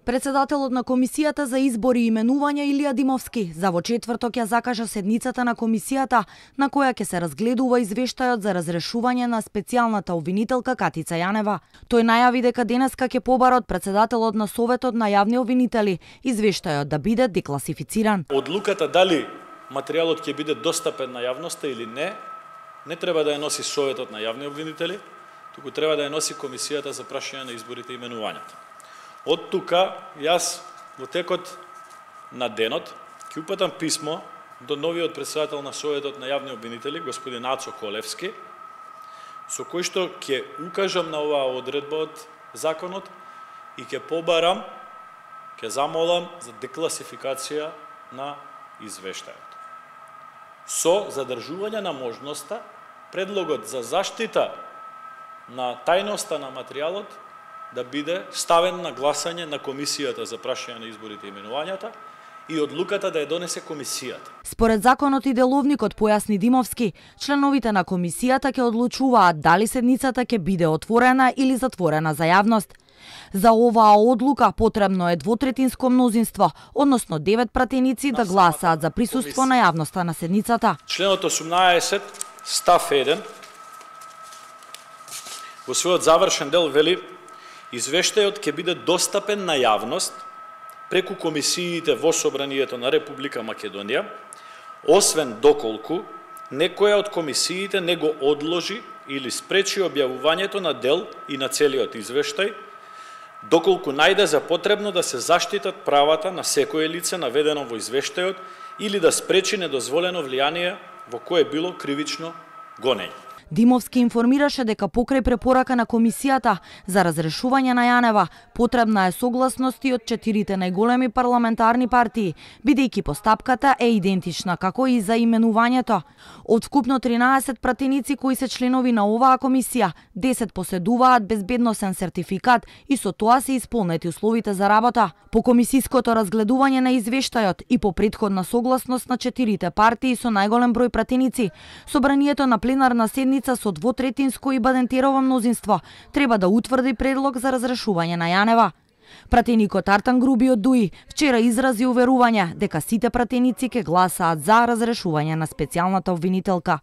Председателот на Комисијата за избори и именувања Илија Димовски за во четврток ја закажа седницата на комисијата на која ќе се разгледува извештајот за разрешување на специјалната обвинителка Катица Јанева. Тој најави дека денеска ќе побара од председателот на Советот на јавни обвинители извештајот да биде декласифициран. Одлуката дали материјалот ќе биде достапен на јавноста или не треба да ја носи Советот на јавни обвинители, туку треба да ја носи Комисијата за прашање на изборите и именувањата. Од тука, јас во текот на денот ќе упатам писмо до новиот председател на Советот на јавни обвинители, господин Ацо Колевски, со кој што ќе укажам на оваа одредба од законот и ќе побарам, ќе замолам за декласификација на извештајот. Со задржување на можноста, предлогот за заштита на тајноста на материјалот да биде ставен на гласање на Комисијата за прашање на изборите и именувањата и одлуката да ја донесе Комисијата. Според законот и деловникот, појасни Димовски, членовите на Комисијата ќе одлучуваат дали седницата ќе биде отворена или затворена за јавност. За оваа одлука потребно е двотретинско мнозинство, односно 9 пратеници да гласаат за присуство на јавноста на седницата. Членот 18 став 1 во својот завршен дел вели: извештајот ќе биде достапен на јавност преку комисиите во Собранието на Република Македонија, освен доколку некоја од комисиите не го одложи или спречи објавувањето на дел и на целиот извештај, доколку најде за потребно да се заштитат правата на секое лице наведено во извештајот или да спречи недозволено влијание во кое било кривично гонење. Димовски информираше дека покрај препорака на Комисијата за разрешување на Јанева потребна е согласност и од 4 најголеми парламентарни партии, бидејќи постапката е идентична како и за именувањето. Од вкупно 13 пратеници кои се членови на оваа комисија, 10 поседуваат безбедносен сертификат и со тоа се исполнети условите за работа. По комисиското разгледување на извештајот и по претходна согласност на 4 партии со најголем број пратеници, собранието на пленарна седница со двотретинско и бадентерово мнозинство треба да утврди предлог за разрешување на Јанева. Пратеникот Артан Груби од ДУИ вчера изрази уверување дека сите пратеници ќе гласаат за разрешување на специјалната обвинителка.